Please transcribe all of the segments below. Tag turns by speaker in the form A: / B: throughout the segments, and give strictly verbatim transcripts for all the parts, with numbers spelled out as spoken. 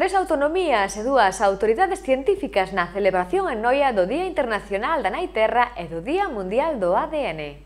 A: Tres autonomías e dúas autoridades científicas na celebración en Noia do Día Internacional da Nai Terra e do Día Mundial do A D N.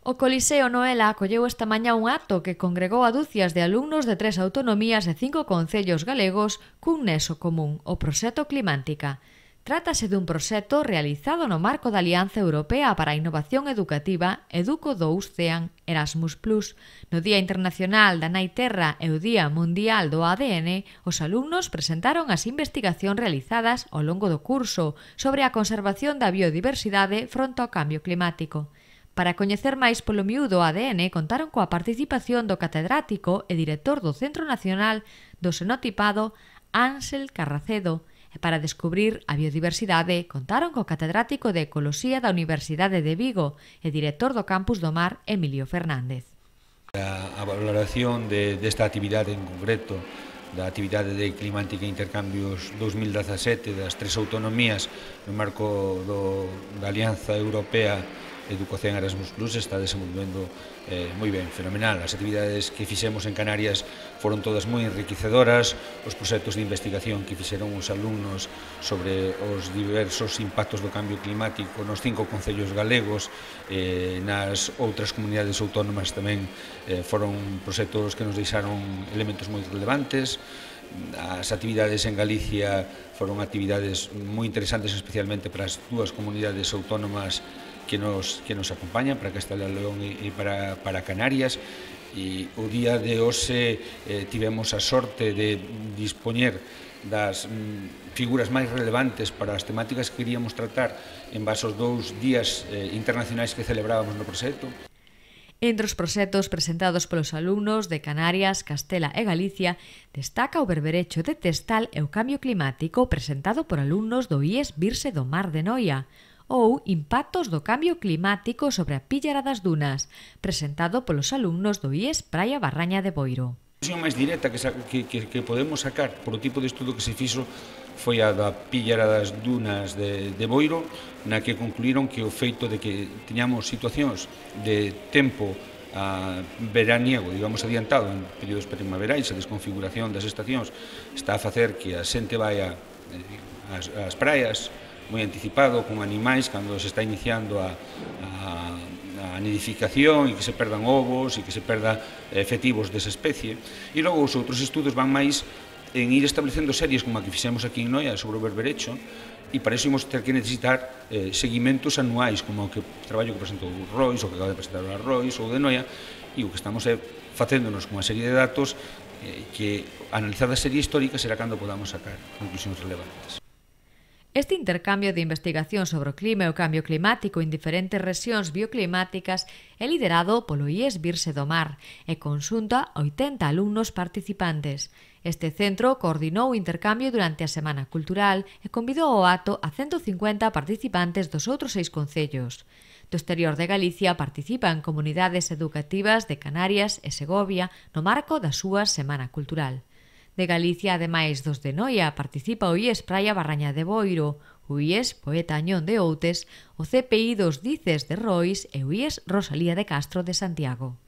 A: O Coliseo Noela acolleu esta mañá un acto que congregou a dúcias de alumnos de tres autonomías e cinco concellos galegos cun nexo común, o proxecto Climántica. Trátase dun proxecto realizado no marco da Alianza Europea para a Innovación Educativa Educo dous CEAN Erasmus plus. No Día Internacional da Nai Terra e o Día Mundial do A D N, os alumnos presentaron as investigacións realizadas ao longo do curso sobre a conservación da biodiversidade fronte ao cambio climático. Para coñecer máis polo miúdo o A D N, contaron coa participación do catedrático e director do Centro Nacional do Xenotipado, Ánsel Carracedo, e para descubrir a biodiversidade contaron co catedrático de Ecoloxía da Universidade de Vigo e director do Campus do Mar, Emilio Fernández.
B: A, a valoración de, desta actividade en concreto, da actividade de Climántica e Intercambios dos mil dezasete das tres autonomías no marco do, da Alianza Europea Educación Erasmus plus, está desenvolvendo eh, moi ben, fenomenal. As actividades que fixemos en Canarias foron todas moi enriquecedoras, os proxectos de investigación que fixeron os alumnos sobre os diversos impactos do cambio climático nos cinco concellos galegos, eh, nas outras comunidades autónomas tamén eh, foron proxectos que nos deixaron elementos moi relevantes. As actividades en Galicia foron actividades moi interesantes, especialmente para as dúas comunidades autónomas que nos, que nos acompañan, para Castela e León e para, para Canarias. E o día de hoxe eh, tivemos a sorte de dispoñer das mm, figuras máis relevantes para as temáticas que queríamos tratar en base aos dous días eh, internacionais que celebrábamos no proxecto.
A: Entre os proxectos presentados polos alumnos de Canarias, Castela e Galicia, destaca o berberecho de Testal e o cambio climático presentado por alumnos do I E S Virse do Mar de Noia, ou Impactos do cambio climático sobre a Píllara das Dunas, presentado polos alumnos do I E S Praia Barraña de Boiro.
B: A conclusión máis directa que, que, que, que podemos sacar por o tipo de estudo que se fixo foi a da Píllara das Dunas de, de Boiro, na que concluíron que o feito de que tiñamos situacións de tempo a veraniego, digamos, adiantado en períodos primaverais, a desconfiguración das estacións está a facer que a xente vaya ás, ás praias moi anticipado, con animais, cando se está iniciando a, a, a nidificación e que se perdan ovos e que se perda efectivos desa especie. E logo os outros estudos van máis en ir establecendo series como a que fixemos aquí en Noia sobre o berberecho, e para iso imos ter que necesitar eh, seguimentos anuais, como o que traballo que presentou o Rois, o que acaba de presentar o Rois ou de Noia, e o que estamos é facéndonos con unha serie de datos eh, que, analizada a serie histórica, será cando podamos sacar conclusións relevantes.
A: Este intercambio de investigación sobre o clima e o cambio climático en diferentes rexións bioclimáticas é liderado polo I E S Virse do Mar e conxunta oitenta alumnos participantes. Este centro coordinou o intercambio durante a Semana Cultural e convidou ao acto a ciento cincuenta participantes dos outros seis concellos. Do exterior de Galicia participan comunidades educativas de Canarias e Segovia no marco da súa Semana Cultural. De Galicia, ademais dos de Noia, participa o I E S Praia Barraña de Boiro, o I E S Poeta Añón de Outes, o C P I dos Dices de Rois e o I E S Rosalía de Castro de Santiago.